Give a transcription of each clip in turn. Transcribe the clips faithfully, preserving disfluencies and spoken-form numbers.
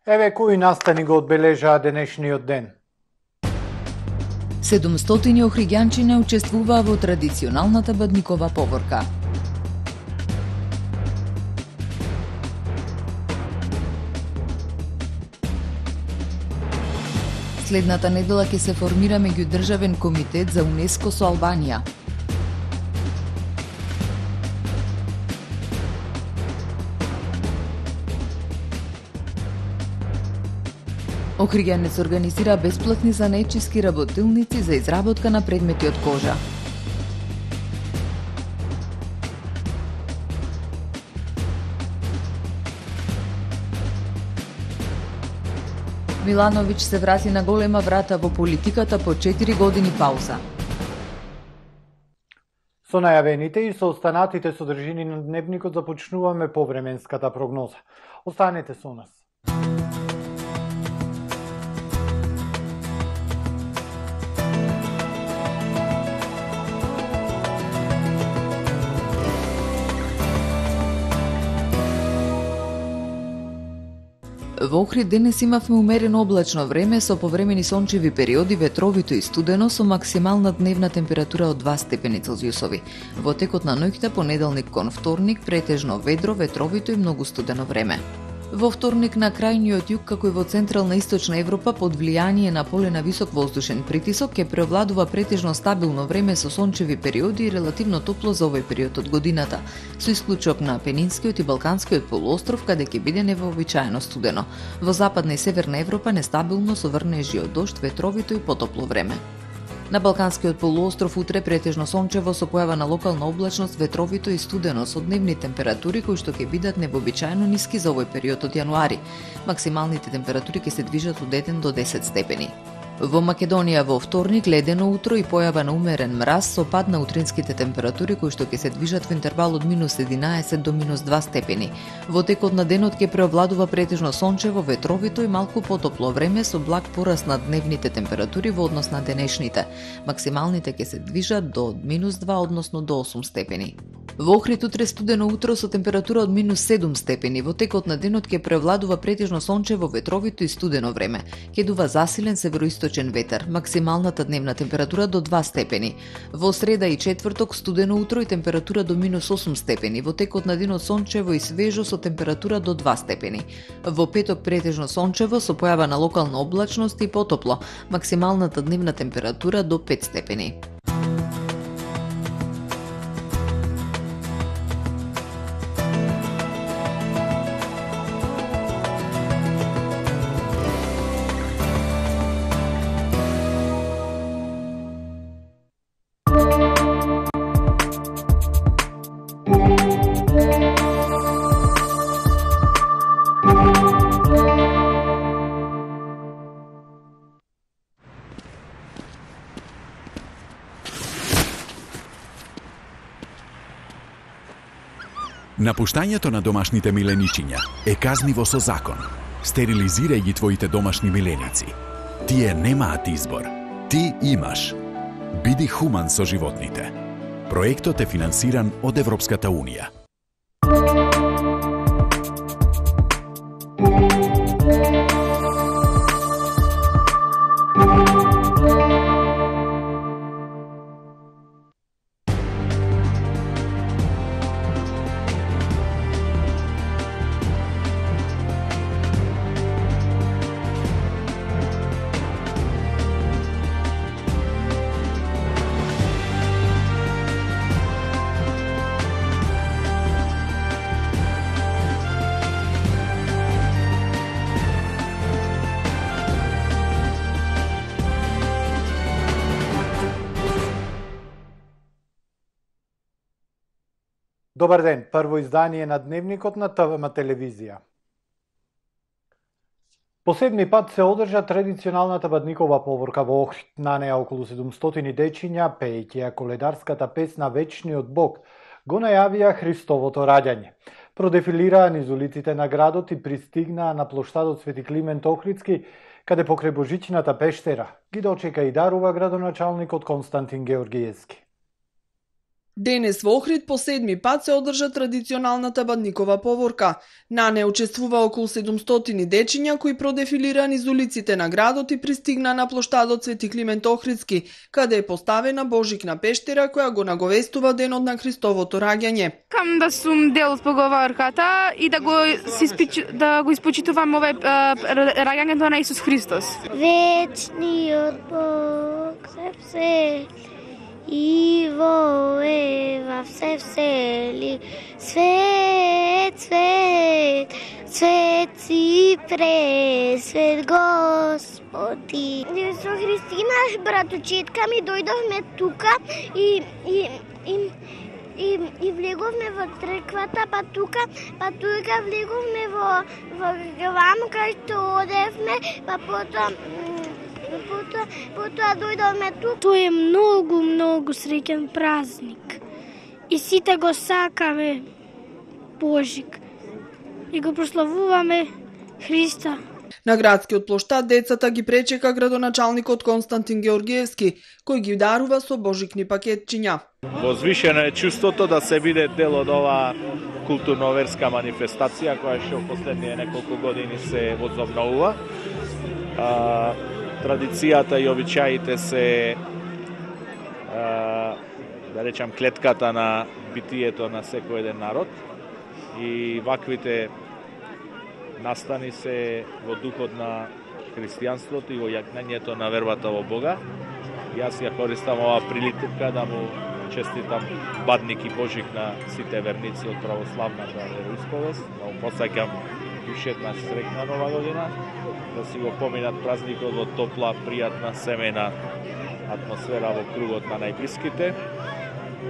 Еве кои настани го одбележаа денешниот ден. седумстотини охриѓанчине учествуваа во традиционалната бадникова поворка. Следната недела ќе се формира меѓудржавен комитет за УНЕСКО со Албанија. Охриѓанец организира бесплатни занечиски работилници за изработка на предмети од кожа. Милановиќ се врати на голема врата во политиката по четири години пауза. Со најавените и со останатите содржини на дневникот започнуваме повременската прогноза. Останете со нас. Во Охрид денес имавме умерено облачно време со повремени сончеви периоди, ветровито и студено со максимална дневна температура од два степени Целзиусови. Во текот на ноќта понеделник кон вторник претежно ведро, ветровито и многу студено време. Во вторник на крајниот југ, како и во централна и источна Европа, под влијание на поле на висок воздушен притисок, ќе преовладува претежно стабилно време со сончеви периоди и релативно топло за овој период од годината, со исклучок на Пенинскиот и Балканскиот полуостров, каде ќе биде невообичаено студено. Во западна и северна Европа нестабилно со врнежи од дожд, ветровито и потопло време. На Балканскиот полуостров утре претежно сончево со појава на локална облачност, ветровито и студено со дневни температури кои што ќе бидат невообичаено ниски за овој период од јануари. Максималните температури ќе се движат од еден до десет степени. Во Македонија во вторник ледено утро и појава на умерен мраз со пад на утринските температури кои што ќе се движат во интервал од минус единаесет до минус два степени. Во текот на денот ќе преовладува претежно сончево, ветровито и малку потопло време со благ пораст на дневните температури во однос на денешните. Максималните ќе се движат до минус два, односно до осум степени. Во Охрид утре студено утро со температура од минус седум степени. Во текот на денот ќе преовладува претежно сончево, ветровито и студено време. Ќе дува засилен североисточен ветер. Максималната дневна температура до два степени. Во среда и четврток студено утро и температура до минус осум степени. Во текот на денот сончево и свежо со температура до два степени. Во петок претежно сончево со појава на локална облачност и потопло. Максималната дневна температура до пет степени. Напуштањето на домашните миленичиња е казниво со закон. Стерилизирај ги твоите домашни миленици. Тие немаат избор. Ти имаш. Биди хуман со животните. Проектот е финансиран од Европската Унија. Добар ден, прво издание на Дневникот на ТВМ телевизија. По седми пат се одржа традиционалната бадникова поворка во Охрид. На неа околу седумстотини дечиња, пеејќи ја коледарската песна Вечниот Бог, го најавија Христовото раѓање. Продефилираа низ улиците на градот и пристигнаа на плоштадот Свети Климент Охридски, каде покрај Божичната пештера ги дочека и дарува градоначалникот Константин Георгиевски. Денес во Охрид по седми пат се одржа традиционалната бадникова поворка. На неа учествува околу седумстотини дечиња кои продефилираа низ улиците на градот и пристигна на плоштадот Свети Климент Охридски, каде е поставена Божикна пештера која го наговестува денот на Христовото раѓање. Кам да сум дел од поговорката и да го си да го испочитувам овој раѓањето на Исус Христос. Вечниот Бог се всели и во Ева се всели, свет, свет, свет си пресвет Господи. Со Христина, браточетка ми, дојдовме тука и, и, и И, и влеговме во црквата, па тука, па тука влеговме во, во глам, кај што одевме, па потоа, потоа, потоа дојдовме тука. Тој е многу, многу среќен празник. И сите го сакаме Божик. И го прославуваме Христа. На градскиот плоштад децата ги пречека градоначалникот Константин Георгиевски, кој ги дарува со божикни пакетчиња. Возвишено е чувството да се биде дел од оваа културно-верска манифестација која што последние неколку години се возобновува. А, традицијата и обичаите се а, да речам клетката на битието на секој еден народ и ваквите настани се во духот на христијанството и во јакнењето на вербата во Бога. Јас ја користам оваа прилика да му честитам Бадник и Божик на сите верници од православната вероисповест. Да му посаќам уште една среќна нова година, да си го поминат празникот во топла, пријатна, семејна атмосфера во кругот на најблиските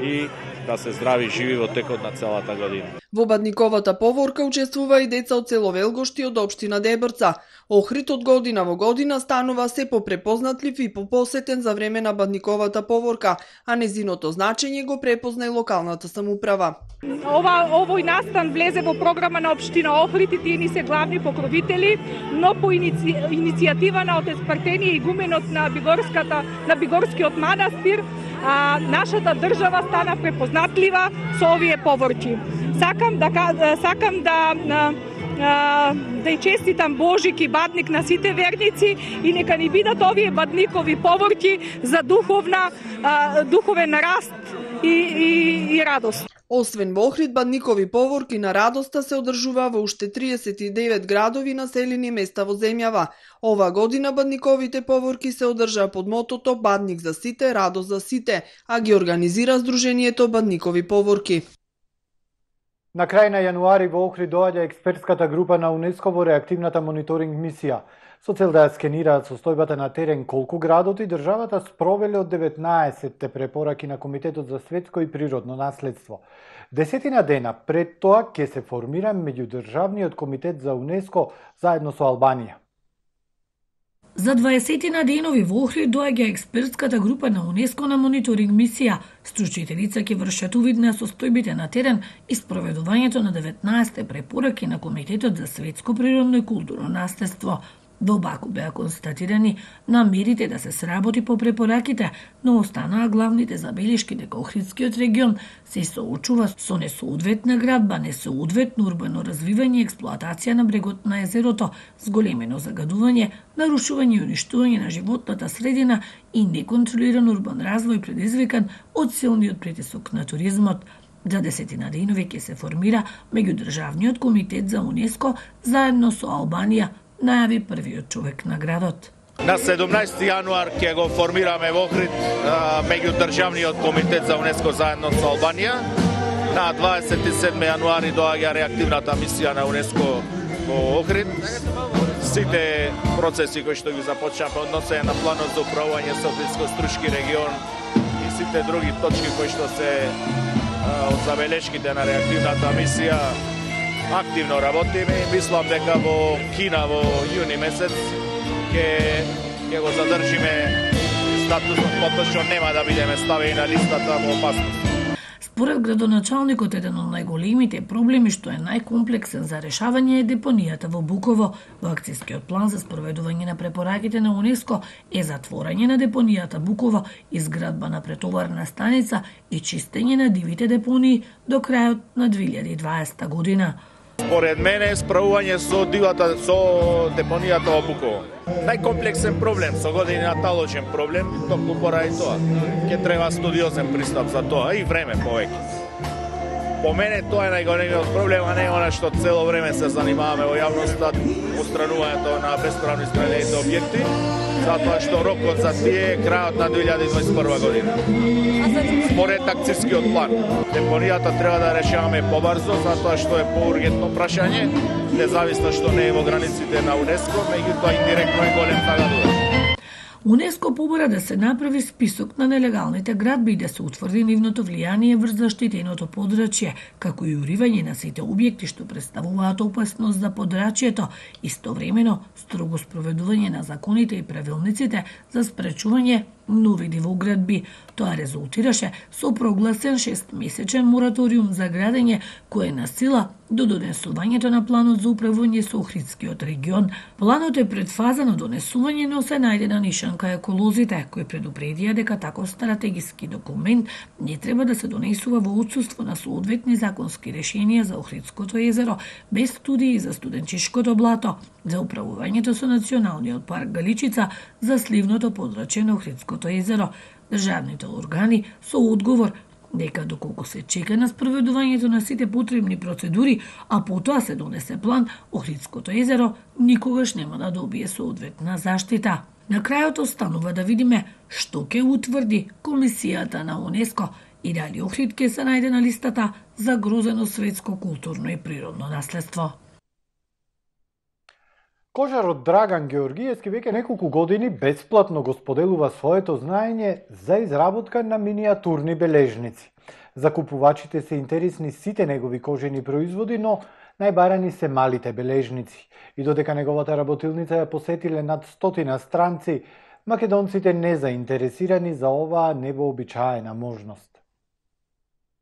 и да се здрави живи во текот на целата година. Во бадниковата поворка учествува и деца од село Велгошти од општина Дебрца. Охрид од година во година станува се попрепознатлив и попосетен за време на бадниковата поворка, а незиното значење го препозна и локалната самоуправа. Ова овој настан влезе во програма на општина Охрид и тие ни се главни покровители, но по иници... иницијатива на отеспартениот игуменот на Бигорската на Бигорскиот манастир, а, нашата држава стана препознатлива со овие поворки. Сакам да сакам да да ја честитам Божик и Бадник на сите верници и нека ни бидат овие бадникови поворки за духовна духовен раст и и, и радост. Освен во Охрид, бадникови поворки на радоста се одржува во уште триесет и девет градови населени места во земјава. Ова година бадниковите поворки се одржаа под мотото Бадник за сите, радост за сите, а ги организира Сдруженијето Бадникови поворки. На крај на јануари во Охрид доаѓа експертската група на УНЕСКО во реактивната мониторинг мисија, со цел да ја скенираат состојбата на терен колку градот и државата спровеле од деветнаесетте препораки на Комитетот за светско и природно наследство. Десетина дена пред тоа ќе се формира меѓудржавниот комитет за УНЕСКО заедно со Албанија. За дваесетина денови во Охрид доаѓа експертската група на УНЕСКО на мониторинг мисија. Стручителица ќе вршат увид на состојбите на терен и спроведувањето на деветнаесетте препораки на Комитетот за светско природно и културно наследство. Во Баку беа констатирани намерите да се сработи по препораките, но останаа главните забелешки дека Охридскиот регион се соочува со несоодветна градба, несоодветно урбано развивање и експлоатација на брегот на езерото, зголемено загадување, нарушување и уништување на животната средина и неконтролиран урбан развој предизвикан од силниот притисок на туризмот. За десетина денови ќе се формира меѓудржавниот комитет за УНЕСКО заедно со Албанија, најави првиот човек на градот. На седумнаесети јануар ќе го формираме во Охрид меѓудржавниот комитет за УНЕСКО заедно со Албанија. На дваесет и седми јануари доаѓа реактивната мисија на УНЕСКО во Охрид. Сите процеси кои што ги започнаа по односење на планот за управување Софијско-Стручки регион и сите други точки кои што се од забелешките на реактивната мисија активно работиме и мислам дека во Кина во јуни месец ќе ќе го задржиме статусот, потоа што нема да бидеме ставени на листата во опасност. Според градоначалникот, еден од најголемите проблеми што е најкомплексен за решавање е депонијата во Буково. Во акцијскиот план за спроведување на препораките на УНЕСКО е затворање на депонијата Буково, изградба на претоварна станица и чистење на дивите депонии до крајот на две илјади и дваесета година. Според мене, справување со дивата, со депонијата во Буково. Најкомплексен проблем, со години наталочен проблем, токму поради тоа. Ќе треба студиозен пристап за тоа и време повеќе. По мене тоа е најголемиот проблем, а не она што цело време се занимаваме во јавноста, устранувањето на бесправно изградените објекти, затоа што рокот за тие е крајот на две илјади и дваесет и прва година. Според акцијскиот план, депонијата треба да решаваме побрзо, затоа што е поургентно прашање, независно што не е во границите на УНЕСКО, меѓутоа индиректно е голем загадувач. УНЕСКО побара да се направи список на нелегалните градби и да се утврди нивното влијание врз заштитеното подрачје, како и уривање на сите објекти што представуваат опасност за подрачјето, истовремено строго спроведување на законите и правилниците за спречување нови дивоградби. Тоа резултираше со прогласен шестмесечен мораториум за градење кој е на сила до донесувањето на планот за управување со Охридскиот регион. Планот е пред фаза на донесување, но се најде на нишанка еколозите, кои предупредија дека таков стратегиски документ не треба да се донесува во отсуство на соодветни законски решенија за Охридското езеро, без студии за Студенчишкото блато, за управувањето со Националниот парк Галичица, за сливното подрачје на Охридското езеро. Државните органи со одговор дека доколку се чека на спроведувањето на сите потребни процедури, а потоа се донесе план, Охридското езеро никогаш нема да добие соодветна заштита. На крајот останува да видиме што ќе утврди Комисијата на УНЕСКО и дали Охрид ќе се најде на листата за грозено светско културно и природно наследство. Кожарот Драган Георгиевски веќе неколку години бесплатно го споделува своето знаење за изработка на миниатурни бележници. За купувачите се интересни сите негови кожени производи, но најбарани се малите бележници. И додека неговата работилница ја посетиле над стотина странци, македонците не заинтересирани за оваа невообичаена можност.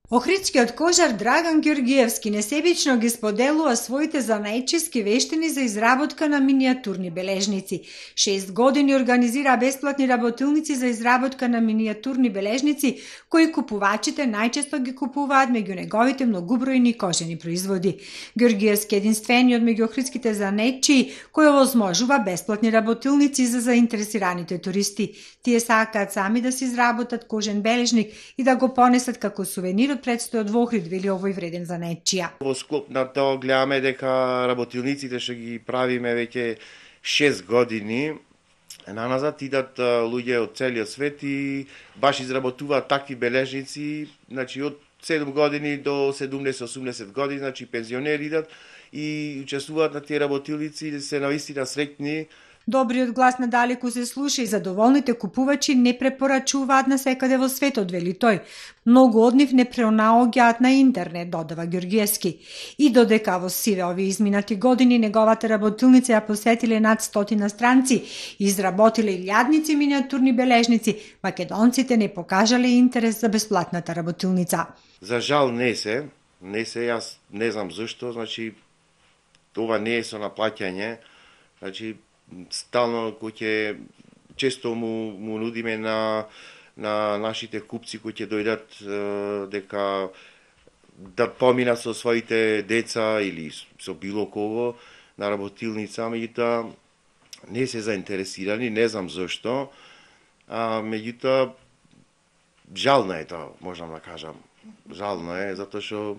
Охридскиот кожар Драган Георгиевски несебично ги споделува своите занајчески вештини за изработка на миниатурни бележници. Шест години организира бесплатни работилници за изработка на миниатурни бележници, кои купувачите најчесто ги купуваат меѓу неговите многобројни кожени производи. Георгиевски е единствениот меѓу охридските занајчии кој овозможува бесплатни работилници за заинтересираните туристи. Тие сакаат сами да се изработат кожен бележник и да го понесат како сувенир предстојот во Охрид, вели овој вреден занајчија. Во склоп на тоа гледаме дека работилниците што ги правиме веќе шест години наназад идат луѓе од целиот свет и баш изработуваат такви бележници, значи од седум години до седумдесет-осумдесет години, значи пензионери идат и учествуваат на тие работилници и се навистина среќни. Добриот глас надалеку се слуша и задоволните купувачи не препорачуваат на секаде во светот, вели тој. Многу од нив не пренаоѓаат на интернет, додава Георгиевски. И додека во сиве овие изминати години неговата работилница ја посетиле над стотина странци и изработиле илјадници миниатурни бележници, македонците не покажале интерес за бесплатната работилница. За жал не се, не се, јас не знам зашто, значи ова не е со наплаќање, значи стално кој ќе често му, му нудиме на, на нашите купци кои ќе дојдат е, дека да поминат со своите деца или со било кого на работилница, меѓутоа не се заинтересирани, не знам зашто, а меѓутоа жално е тоа, можам да кажам. Жално е, затоа што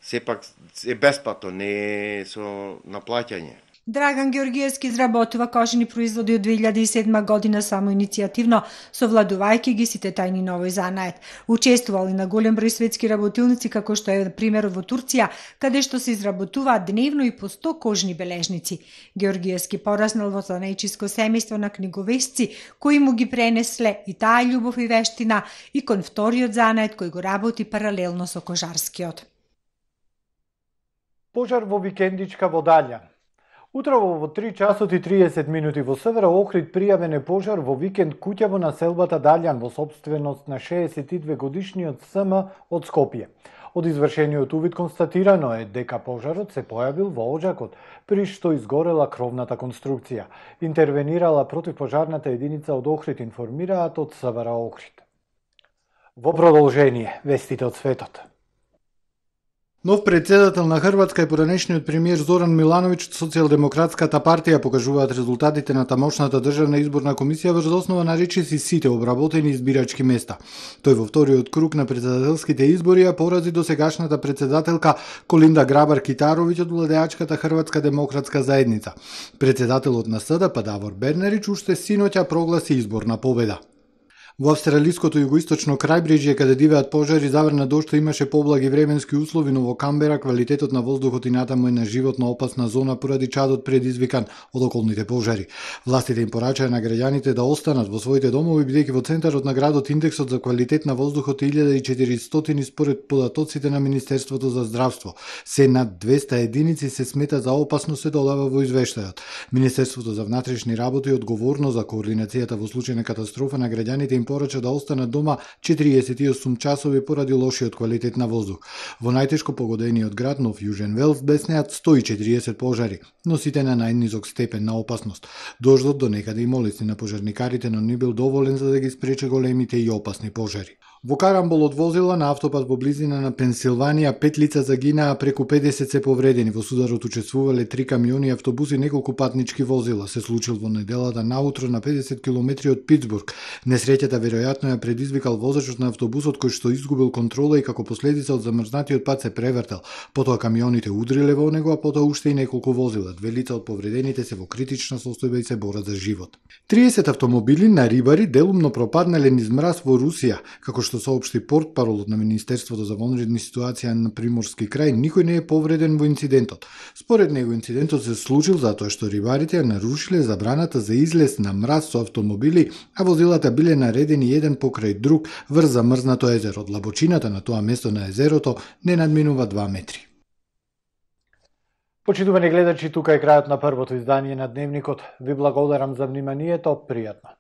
сепак е бесплатно, не е со наплаќање. Драган Георгиевски изработува кожени производи од две илјади и седма година само иницијативно, совладувајќи ги сите тајни на овој занает. Учествувал и на голем број светски работилници, како што е примерот во Турција, каде што се изработуваат дневно и по сто кожни бележници. Георгиевски пораснал во занајчиско семејство на книговесци, кои му ги пренесле и таа љубов и вештина и кон вториот занает кој го работи паралелно со кожарскиот. Пожар во викендичка во Далјан. Утрово во три часот и триесет минути во Севера Охрид пријавен е пожар во викенд куќа во населбата Далјан во сопственост на шеесет и две годишниот СМ од Скопје. Од извршениот увид констатирано е дека пожарот се појавил во оџакот, при што изгорела кровната конструкција. Интервенирала противпожарната единица од Охрид, информираат од Севера Охрид. Во продолжение, вестите од светот. Нов председател на Хрватска и поранешниот премиер Зоран Милановиќ од Социјалдемократската партија покажуваат резултатите на тамошната државна изборна комисија врз основа на речиси сите обработени избирачки места. Тој во вториот круг на председателските избори ја порази досегашната председателка Колинда Грабар-Китаровиќ од владеачката Хрватска демократска заедница. Председателот на СДП Давор Бернарич уште синоќа прогласи изборна победа. Во австралиското југоисточно крајбрежје, каде дивеат пожари, заврна дошто имаше поблаги временски услови, но во Камбера квалитетот на воздухот и натаму е на животно опасна зона поради чадот предизвикан од околните пожари. Властите им порачаа на граѓаните да останат во своите домови, бидејќи во центарот на градот индексот за квалитет на воздухот е илјада и четиристотини според податоците на Министерството за здравство. Се над двеста единици се смета за опасно, се додава во извештајот. Министерството за внатрешни работи е одговорно за координацијата во случај на катастрофа на граѓаните им порача да останат дома четириесет и осум часови поради лошиот квалитет на воздух. Во најтешко погодениот град Нов Јужен Велс беснеат сто и четириесет пожари, но сите на најнизок степен на опасност. Дождот до некаде им олесни на пожарникарите, но не бил доволен за да ги спрече големите и опасни пожари. Во карамбол од возила на автопат во близина на Пенсилванија пет лица загинаа, преку педесет се повредени. Во сударот учествувале три камиони, автобуси и неколку патнички возила. Се случил во неделата наутро на педесет километри од Питсбург. Несреќата веројатно ја предизвикал возачот на автобусот, кој што изгубил контрола и како последица од замрзнатиот пат се превртел. Потоа камионите удриле во него, а потоа уште и неколку возила. Две лица од повредените се во критична состојба и се борат за живот. триесет автомобили на рибари делумно пропаднале низ мраз во Русија, како што соопшти портпаролот на Министерството за вонредни ситуации на Приморски крај, никој не е повреден во инцидентот. Според него инцидентот се случил затоа што рибарите ја нарушиле забраната за излез на мраз со автомобили, а возилата биле наредени еден покрај друг врз замрзнато езеро. Длабочината на тоа место на езерото не надминува два метри. Почитувани гледачи, тука е крајот на првото издание на Дневникот. Ви благодарам за вниманието, пријатно.